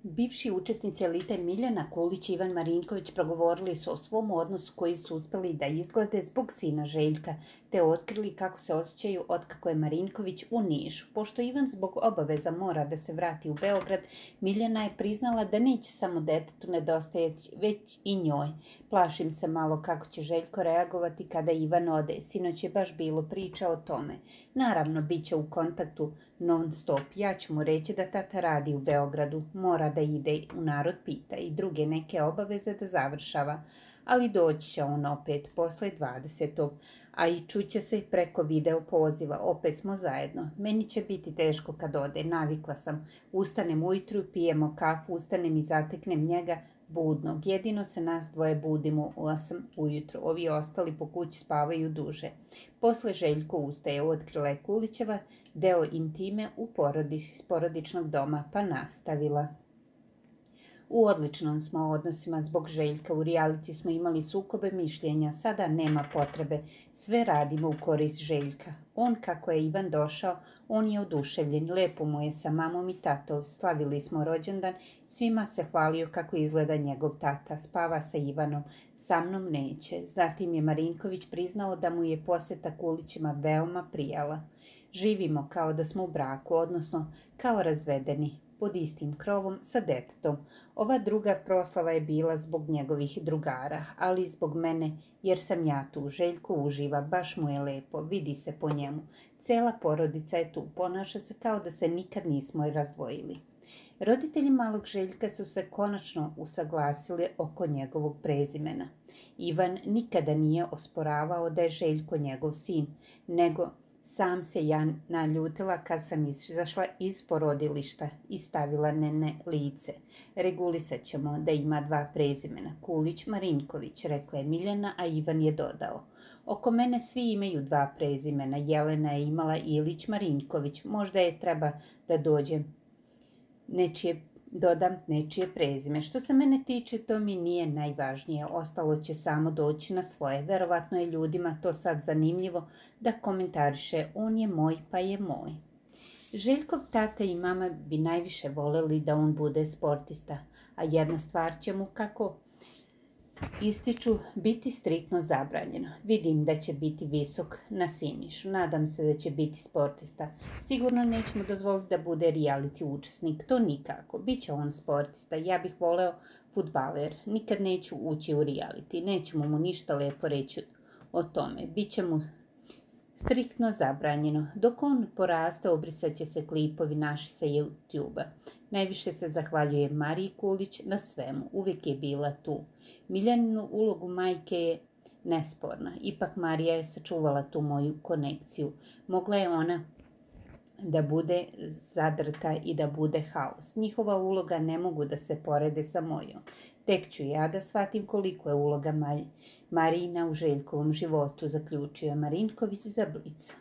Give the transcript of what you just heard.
Bivši učesnici Elite Miljana Kulić i Ivan Marinković progovorili su o svom odnosu koji su uspeli da izglede zbog sina Željka, te otkrili kako se osjećaju otkako je Marinković u Nišu. Pošto Ivan zbog obaveza mora da se vrati u Beograd, Miljana je priznala da neće samo detetu nedostajati, već i njoj. Plašim se malo kako će Željko reagovati kada Ivan ode. Sinoć je baš bilo priča o tome. Naravno, bit će u kontaktu non stop. Ja ću mu reći da tata radi u Beogradu, mora da ide u Narod pita i druge neke obaveze da završava, ali doći će on opet posle 20. A i čuće se preko video poziva, opet smo zajedno. Meni će biti teško kad ode, navikla sam. Ustanem ujutru, pijemo kafu, ustanem i zateknem njega budnog. Jedino se nas dvoje budimo u 8 ujutro, ovi ostali po kući spavaju duže. Posle Željko ustaje, otkrila je Kulićeva deo intime iz porodičnog doma, pa nastavila. U odličnom smo odnosima zbog Željka, u reality smo imali sukobe mišljenja, sada nema potrebe, sve radimo u korist Željka. On, kako je Ivan došao, on je oduševljen, lepo mu je sa mamom i tatom, slavili smo rođendan, svima se hvalio kako izgleda njegov tata, spava sa Ivanom, sa mnom neće. Zatim je Marinković priznao da mu je poseta Kulićima veoma prijala. Živimo kao da smo u braku, odnosno kao razvedeni, pod istim krovom sa detetom. Ova druga proslava je bila zbog njegovih drugara, ali i zbog mene, jer sam ja tu. Željko uživa, baš mu je lepo, vidi se po njemu. Cela porodica je tu, ponaša se kao da se nikad nismo razdvojili. Roditelji malog Željka su se konačno usaglasili oko njegovog prezimena. Ivan nikada nije osporavao da je Željko njegov sin, nego sam se ja naljutila kad sam izašla iz porodilišta i stavila nene lice. Regulisat ćemo da ima 2 prezimena, Kulić Marinković, rekla je Miljana, a Ivan je dodao. Oko mene svi imaju 2 prezimena, Jelena je imala Ilić Marinković, možda je treba da dodam nečije prezime. Što se mene tiče, to mi nije najvažnije, ostalo će samo doći na svoje. Verovatno je ljudima to sad zanimljivo da komentariše, on je moj pa je moj. Željkov tata i mama bi najviše voleli da on bude sportista, a jedna stvar će mu, kako ističu, biti striktno zabranjeno. Vidim da će biti visok na Sinišu. Nadam se da će biti sportista. Sigurno nećemo dozvoliti da bude reality učesnik. To nikako. Biće on sportista. Ja bih voleo fudbaler. Nikad neću ući u reality. Nećemo mu ništa lepo reći o tome. Biće mu striktno zabranjeno. Dok on poraste, obrisat će se klipovi naši sa YouTube-a. Najviše se zahvaljuje Mariji Kulić na svemu. Uvijek je bila tu. Miljaninu ulogu majke je nesporna. Ipak Marija je sačuvala tu moju konekciju. Mogla je ona da bude zadrta i da bude haos. Njihova uloga ne mogu da se porede sa mojom. Tek ću ja da shvatim koliko je uloga Marijina u Željkovom životu, zaključio je Marinković za Blic.